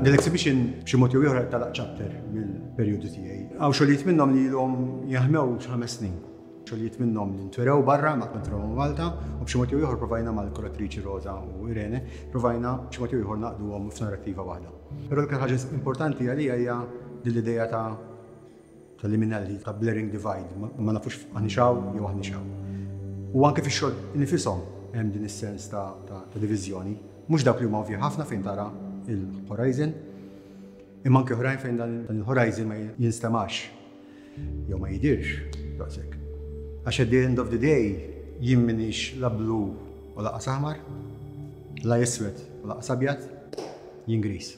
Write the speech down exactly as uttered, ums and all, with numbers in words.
L-exhibition b'xi mod jew ieħor tagħlaq chapter mill-perjodu tiegħi. Hawn xogħlijiet minnhom li ilhom jaħmew ħames snin. Xogħlijiet minnhom li ntwerew barra ma ntwerew Malta u b'xi mod jew ieħor provajna mal-kuratriċi Rosa u Irene, provajna b'xi mod jew ieħor ngħaqqduhom f'narrattiva waħda. Però l-iktar ħaġa importanti għalija hija din l-idea ta' tal-liminality, ta' blurring divide, ma nafux aħniex hawn jew aħniex hawn. U anke fix-xogħol nifishom hemm din is-sens ta', ta, ta' diviżjoni. Mhux dawk li huma ovvji ħafna fejn tara il-horizon, imma anke oħrajn fejn dan il-horizon ma jinstemax jew ma jidirx daqshekk. Għax at the end of the day jien minix la blu u lanqas aħmar, la iswed u lanqas abjad, jien gris.